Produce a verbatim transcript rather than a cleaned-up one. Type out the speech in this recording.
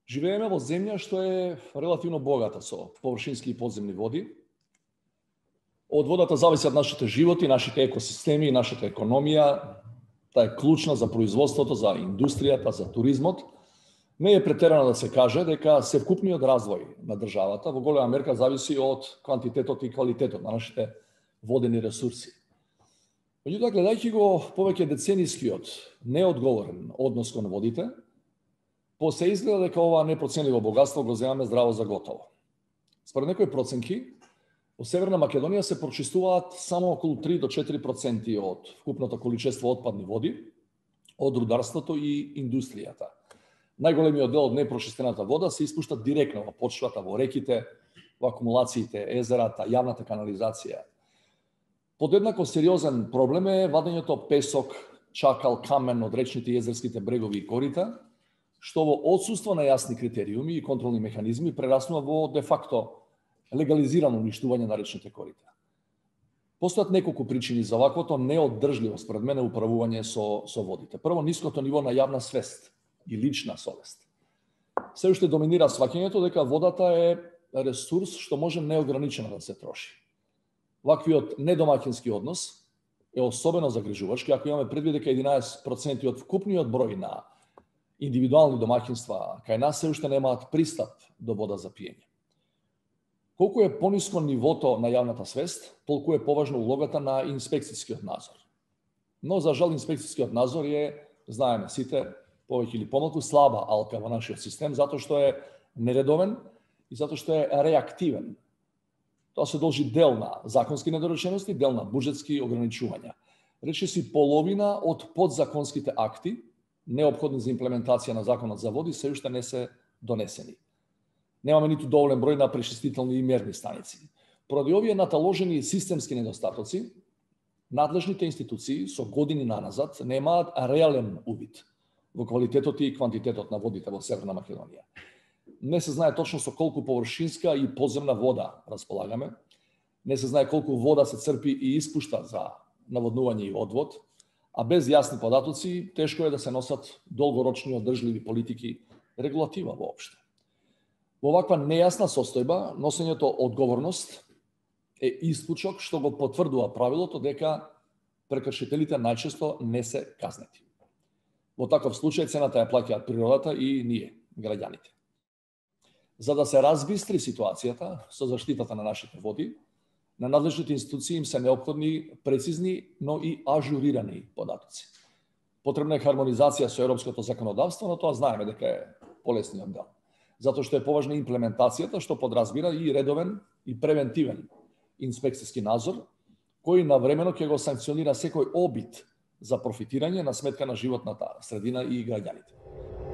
Живееме во земја што е релативно богата со површински и подземни води. Од водата зависат нашите животи, нашите екосистеми, нашата економија. Таа е клучна за производството, за индустријата, за туризмот. Не е претерано да се каже дека севкупниот развој на државата во голема мерка зависи од квантитетот и квалитетот на нашите водени ресурси. Меѓутоа, гледајќи го повеќе деценискиот неодговорен однос кон водите, се изгледа дека ова непроценливо богатство го земаме здраво за готово. Според некои проценки, во Северна Македонија се прочистуваат само околу три до четири проценти од вкупното количество отпадни води од рударството и индустријата. Најголемиот дел од непрочистената вода се испушта директно во почвата, во реките, во акумулациите, езерата, јавната канализација. Подеднако сериозен проблем е вадењето песок, чакал, камен од речните и езерските брегови и корита, што во отсуство на јасни критериуми и контролни механизми прераснува во де-факто легализирано уништување на речните корита. Постојат неколку причини за ваквото неоддржливо, според мене, управување со, со водите. Прво, ниското ниво на јавна свест и лична совест. Се уште доминира сваќањето дека водата е ресурс што може неограничено да се троши. Ваквиот недомаќински однос е особено загрижувачки ако имаме предвид дека единаесет проценти од вкупниот број на индивидуални домаќинства кај нас се уште немаат пристап до вода за пиење. Колку е пониско нивото на јавната свест, толку е поважна улогата на инспекцијскиот надзор. Но за жал инспекцијскиот надзор е, знаеме сите, повеќе или помалку слаба алка во нашиот систем затоа што е нередовен и затоа што е реактивен. Тоа се должи дел на законски недоречености, дел на буџетски ограничувања. Речиси половина од подзаконските акти неопходни за имплементација на законот за води се уште не се донесени. Немаме ниту доволен број на пречистителни и мерни станици. Поради овие наталожени системски недостатоци, надлежните институции со години наназад немаат реален увид во квалитетот и квантитетот на водите во Северна Македонија. Не се знае точно со колку површинска и подземна вода располагаме. Не се знае колку вода се црпи и испушта за наводнување и одвод, а без јасни податоци тешко е да се носат долгорочни одржливи политики, регулатива воопшто. Во ваква нејасна состојба, носењето одговорност е исклучок што го потврдува правилото дека прекршителите најчесто не се казнети. Во таков случај цената ја плаќаат природата и ние, граѓаните. За да се разбистри ситуацијата со заштитата на нашите води, на надлежните институции им се неопходни прецизни, но и ажурирани податоци. Потребна е хармонизација со европското законодавство, но тоа знаеме дека е полесниот дел. Затоа што е поважна имплементацијата, што подразбира и редовен и превентивен инспекцијски надзор, кој навремено ќе го санкционира секој обид за профитирање на сметка на животната средина и граѓаните.